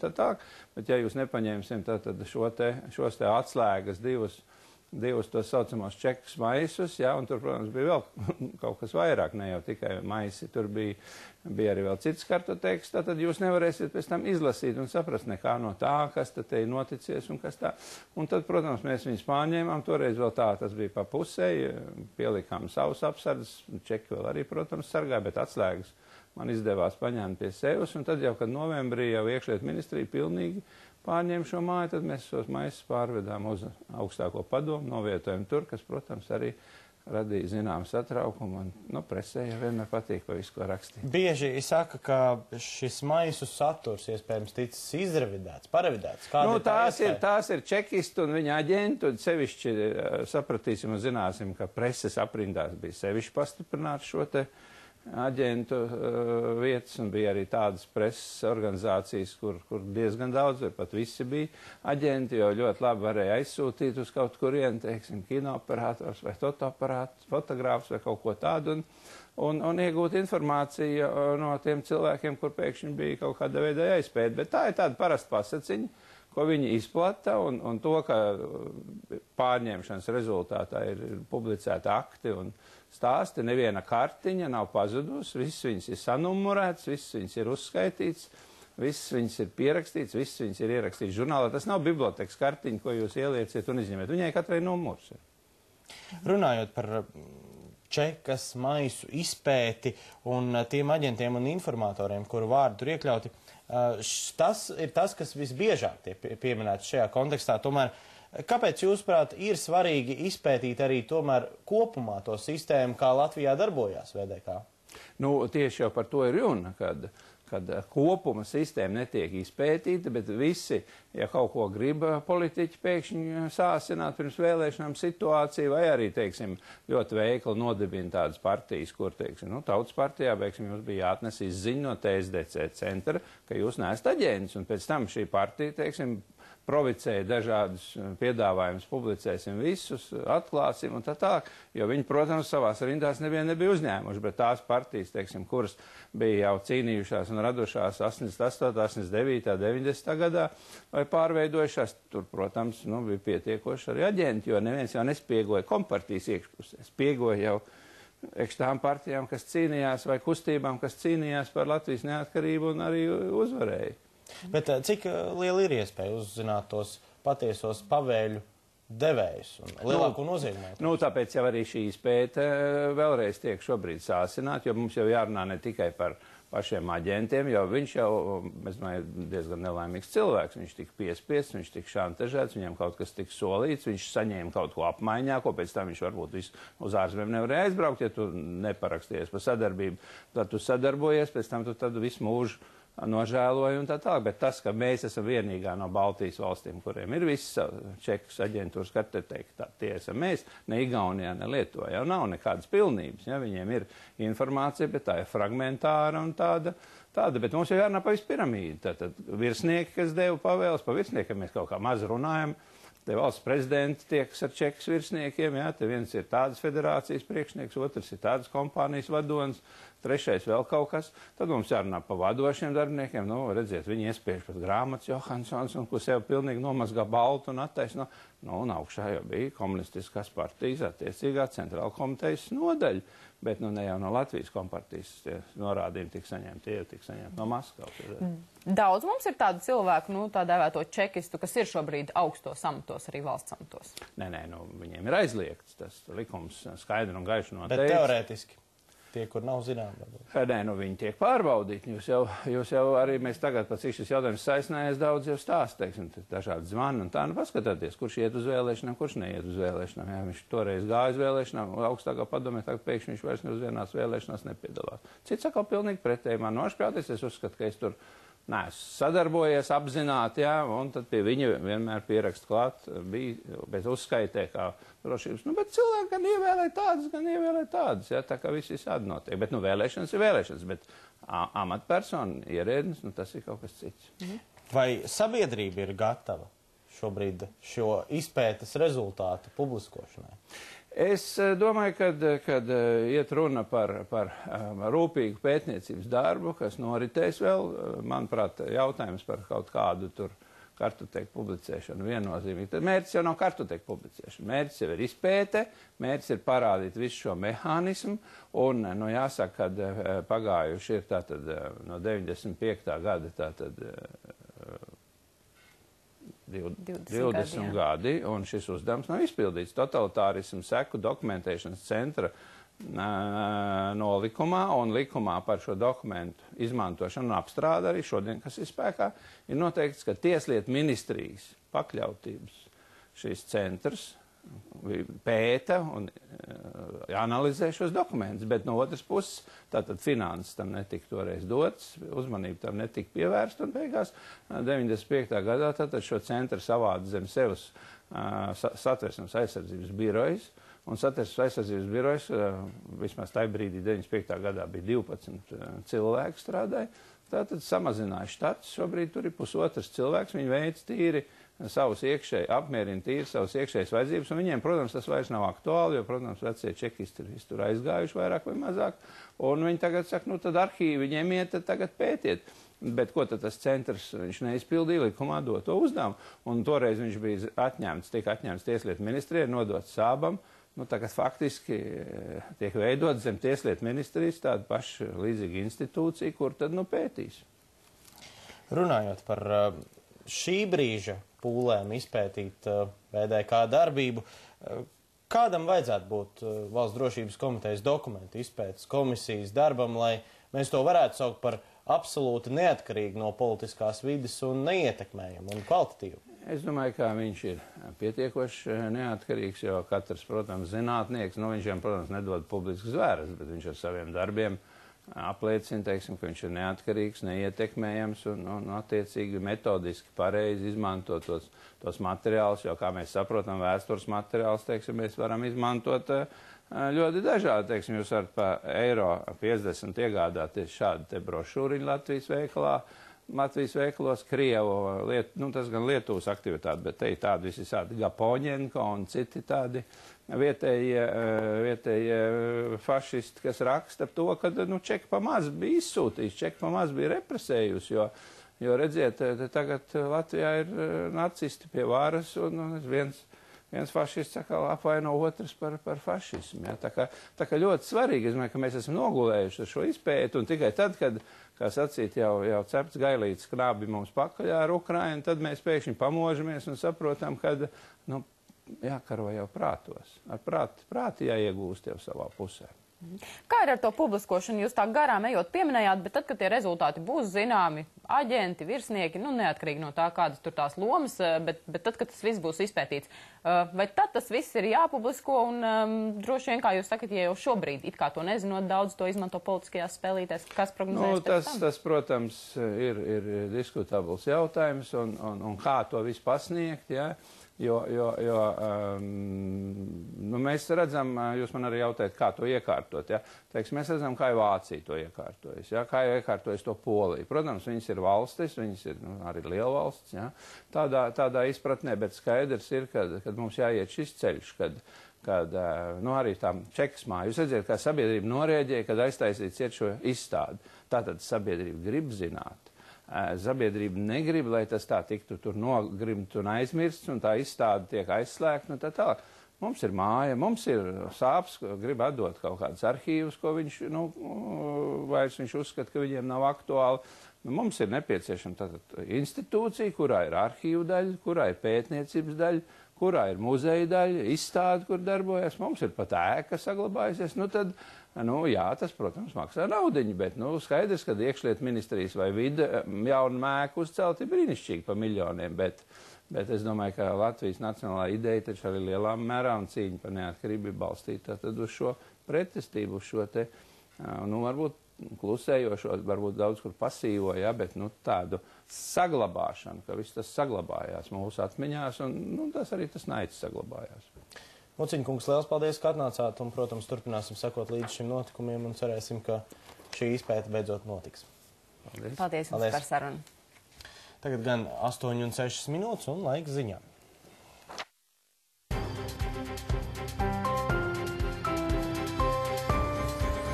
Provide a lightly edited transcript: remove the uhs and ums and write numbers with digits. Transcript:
tā tā. Bet ja jūs nepaņemsim tad šos te atslēgas divus tos saucamos čekus maisus, jā, un tur, protams, bija vēl kaut kas vairāk, ne jau tikai maisi, tur bija arī vēl cits kartoteks, tad jūs nevarēsiet pēc tam izlasīt un saprast nekā no tā, kas tad te ir noticies un kas tā. Un tad, protams, mēs viņus pārņēmām, toreiz vēl tā, tas bija pa pusei, pielikām savus apsardzes, čeki vēl arī, protams, sargāja, bet atslēgas man izdevās paņemt pie sevis, un tad jau, kad novembrī jau iekšliet ministrija pilnīgi pārņēma šo māju, tad mēs šos maisus pārvedām uz augstāko padomu, novietojam tur, kas, protams, arī radīja zinām satraukumu, un presē jau vienmēr patīk pa visu, ko rakstīt. Bieži saka, ka šis maisu saturs iespējams ticis izrevidēts, parevidēts. Tās ir čekisti un viņa aģenti, un sevišķi sapratīsim un zināsim, ka preses aprindās bija sevišķi pastiprināts šo te aģentu vietas, un bija arī tādas preses organizācijas, kur diezgan daudz, vai pat visi bija aģenti, jo ļoti labi varēja aizsūtīt uz kaut kurienu, teiksim, kinoperators vai fotoaparāts, fotogrāfs vai kaut ko tādu, un iegūt informāciju no tiem cilvēkiem, kur pēkšņi bija kaut kāda veida jāizpēt. Bet tā ir tāda parasta pasaciņa, ko viņi izplata, un to, ka pārņemšanas rezultātā ir publicēti akti un stāsti, neviena kartiņa nav pazudusi, viss viņas ir sanumurēts, viss viņas ir uzskaitīts, viss viņas ir pierakstīts, viss viņas ir ierakstīts žurnālā. Tas nav bibliotēkas kartiņa, ko jūs ielieciet un izņemiet. Viņai katrai numurs ir. Runājot par čekas, maisu izpēti un tiem aģentiem un informatoriem, kuru vārdi tur iekļauti, tas ir tas, kas visbiežāk tiek pieminēts šajā kontekstā. Tomēr, kāpēc, jūsuprāt, ir svarīgi izpētīt arī tomēr kopumā to sistēmu, kā Latvijā darbojās VDK? Tieši jau par to ir runa, kad kopuma sistēma netiek izpētīta, bet visi, ja kaut ko grib politiķi pēkšņi sāsināt pirms vēlēšanām situāciju, vai arī, teiksim, ļoti veikli nodibina tādas partijas, kur, teiksim, Tautas partijā, beiksim, jums bija jāatnes izziņa no TSDC centra, ka jūs neesat aģents, un pēc tam šī partija, teiksim, provicēja dažādus piedāvājumus, publicēsim visus, atklāsim un tā tālāk, jo viņi, protams, savās rindās nevienu nebija uzņēmuši, bet tās partijas, teiksim, kuras bija jau cīnījušās un radušās 88, 89, 90 gadā vai pārveidojušās, tur, protams, bija pietiekoši arī aģenti, jo neviens jau nespiegoja kompartijas iekšpusē, spiegoja jau tām partijām, kas cīnījās, vai kustībām, kas cīnījās par Latvijas neatkarību un arī uzvarēja. Bet cik liela ir iespēja uzzināt tos patiesos pavēļu devējus un lielāko nozīmējumu? Tāpēc jau arī šī izpēte vēlreiz tiek šobrīd sāsināt, jo mums jau jārunā ne tikai par pašiem aģentiem, jo viņš jau, es domāju, diezgan nelaimīgs cilvēks, viņš tika piespiests, viņš tika šantažēts, viņam kaut kas tika solīts, viņš saņēma kaut ko apmaiņā, ko pēc tam viņš varbūt uz ārzemēm nevarēja aizbraukt, ja tu neparakstījies par sadarbību, tad tu sadarbojies, pēc tam tu tad visu mūžu nožēloju un tā tālāk, bet tas, ka mēs esam vienīgā no Baltijas valstīm, kuriem ir visas čekas aģentūras kartoteka, tie esam mēs, ne Igaunijā, ne Lietuvā, jau nav nekādas pilnības, ja, viņiem ir informācija, bet tā ir fragmentāra un tāda, bet mums jau jārunā pa visu piramīdu, tātad virsnieki, kas deva pavēles, pa virsniekiem mēs kaut kā maz runājam, te valsts prezidenti tiekas ar čekas virsniekiem, jā, te viens ir tādas federācijas priekšnieks, otrs ir tādas kompānijas vadonis, trešais vēl kaut kas, tad mums jārunā pa vadošiem darbiniekiem, redziet, viņi iespiež pat grāmatas Johansons, un ko sev pilnīgi nomazgā baltu un attaisno, un augšā jau bija komunistiskās partijas attiecīgā centrāla komitejas nodaļa, bet ne jau no Latvijas kompartijas tie norādījumi tika saņemti, tie tika saņemti no Maskavas. Daudz mums ir tādu cilvēku, tā dēvēto čekistu, kas ir šobrīd augstos amatos, arī valsts amatos. Nē, viņiem ir aizliegts, tas likums skaidri un gaiši noteicis. Bet teorētiski? Tie, kur nav zinām. Nē, viņi tiek pārbaudīti. Jūs jau arī mēs tagad, pēc šis jautājums saisnējies, daudz jau stāst, teiksim, dažādi zvani un tā, paskatieties, kurš iet uz vēlēšanām, kurš neiet uz vēlēšanām. Jā, viņš toreiz gāja uz vēlēšanām, augstākā padomē, tagad pēkšņi viņš vairs ne uz vienās vēlēšanās nepiedalās. Cits atkal pilnīgi pretēji man nošpļauties, es uzskatu, ka es tur neesmu sadarbojies apzināti, jā, un tad pie viņa vienmēr pierakst klāt, bija, bet uzskaitē kā drošības. Bet cilvēki gan ievēlē tādas, jā, tā kā viss visādi notiek. Bet, vēlēšanas ir vēlēšanas, bet amatpersona, ierēdnis, tas ir kaut kas cits. Vai sabiedrība ir gatava šobrīd šo izpētes rezultātu publiskošanai? Es domāju, kad iet runa par rūpīgu pētniecības darbu, kas noritēs vēl, manuprāt, jautājums par kaut kādu tur kartoteku publicēšanu viennozīmīgi. Tad mērķis jau nav kartoteku publicēšana. Mērķis jau ir izpēte, mērķis ir parādīt visu šo mehānismu, un, nu, jāsaka, kad pagājuši ir tātad no 95. gada tātad 20 gadi, un šis uzdevums nav izpildīts. Totalitārismu seku dokumentēšanas centra nolikumā un likumā par šo dokumentu izmantošanu un apstrādi arī šodien, kas ir spēkā, ir noteikts, ka Tieslietu ministrijas pakļautības šīs centrs pēta un analizē šos dokumentus, bet no otras puses tātad finanses tam netika toreiz dots, uzmanība tam netika pievērsta, un beigās 95. gadā tātad šo centru savāda zem sevis Satversmes aizsardzības birojas, un Satversmes aizsardzības birojas vismaz tajā brīdī 95. gadā bija 12 cilvēki strādāja, tātad samazināja štats, šobrīd tur ir pusotrs cilvēks, viņi veic tīri savus iekšēji, apmierina tīri savus iekšējas vajadzības, un viņiem, protams, tas vairs nav aktuāli, jo, protams, vecie čekisti ir tur aizgājuši vairāk vai mazāk, un viņi tagad saka, nu tad arhīvi viņiem iet, tad tagad pētiet. Bet ko tad tas centrs, viņš neizpildīja likumā doto uzdevumu, un toreiz viņš bija atņemts, tika atņemts Tieslietu ministrijai, nodots Sābam, nu tagad faktiski tiek veidot zem Tieslietu ministrijas tāda paša līdzīga institūcija, kur tad nu pētīs. Runājot par šī brīža pūlēm izpētīt VDK darbību, kādam vajadzētu būt Valsts drošības komitejas dokumentu izpētes komisijas darbam, lai mēs to varētu saukt par absolūti neatkarīgi no politiskās vides un neietekmējam un kvalitatīvu? Es domāju, ka viņš ir pietiekoši neatkarīgs, jo katrs, protams, zinātnieks, nu viņš jau, protams, nedod publiskas zvēras, bet viņš ar saviem darbiem apliecina, teiksim, ka viņš ir neatkarīgs, neietekmējams un attiecīgi metodiski pareizi izmanto tos materiālus, jo, kā mēs saprotam, vēstures materiālus, teiksim, mēs varam izmantot ļoti dažādi, teiksim, jūs varat pa €50 iegādāties šādu te brošūriņu Latvijas veikalos, Krievu, nu tas gan Lietuvas aktivitāte, bet te ir tādi visādi Gapoņenko un citi tādi vietējie fašisti, kas raksta to, ka, nu, čeki pa maz bija izsūtījis, čeki pa maz bija represējusi, jo redziet, tagad Latvijā ir nacisti pie varas un viens fašists apvaino otrs par fašismu. Ja? Tā kā ļoti svarīgi, es domāju, ka mēs esam nogulējuši ar šo izpēti, un tikai tad, kad, kā sacīt, jau cepts gailīts krābi mums pakaļ ar Ukrainu, tad mēs pēkšņi pamožamies un saprotam, ka, nu, jākaro jau prātos. Ar prāti jāiegūst jau savā pusē. Kā ir ar to publiskošanu? Jūs tā garām ejot pieminējāt, bet tad, kad tie rezultāti būs zināmi, aģenti, virsnieki, nu neatkarīgi no tā, kādas tur tās lomas, bet tad, kad tas viss būs izpētīts, vai tad tas viss ir jāpublisko un droši vien, kā jūs sakat, ja jau šobrīd, it kā to nezinot, daudz to izmanto politiskajās spēlītēs, kas prognozēs pēc tam? Tas, protams, ir diskutabls jautājums un kā to visu pasniegt, ja? Jo nu, mēs redzam, jūs man arī jautājat, kā to iekārtot, ja? Teiksim, mēs redzam, kā Vācija to iekārtojas, ja? Kā iekārtojas to Polija. Protams, viņas ir valstis, viņas ir arī liela valsts, ja? Tādā izpratnē, bet skaidrs ir, kad mums jāiet šis ceļš, kad nu, arī tā čeksmā, jūs redzat, kā sabiedrība norēģēja, kad aiztaisīts iet šo izstādi. Tātad sabiedrība grib zināt. Sabiedrība negrib, lai tas tā tiktu tur nogrimt un aizmirsts, un tā izstāde tiek aizslēgta, un tā tālāk. Mums ir māja, mums ir sāps, grib atdot kaut kādus arhīvus, ko viņš, nu, vairs viņš uzskata, ka viņiem nav aktuāli. Mums ir nepieciešama tātad institūcija, kurā ir arhīvu daļa, kurā ir pētniecības daļa, kurā ir muzeja daļa, izstāde, kur darbojas. Mums ir pat ēka saglabājusies. Nu tad, nu jā, tas, protams, maksā naudiņu, bet, nu, skaidrs, ka iekšlietu ministrijas vai vide jaunu mēku uzcelt ir brīnišķīgi pa miljoniem, bet es domāju, ka Latvijas nacionālā ideja taču arī lielā mērā un cīņa par neatkarību ir balstīta tad uz šo pretestību, uz šo te, nu, varbūt klusējošo, varbūt daudz kur pasīvo, ja, bet, nu, tādu saglabāšanu, ka viss tas saglabājās mūsu atmiņās, un, nu, tas arī tas naids saglabājās. Muciņa kungs, liels paldies, ka atnācāt, un, protams, turpināsim sekot līdz šim notikumiem, un cerēsim, ka šī izpēta beidzot notiks. Paldies jums par sarunu. Tagad gan 8:06 minūtes un laiks ziņām.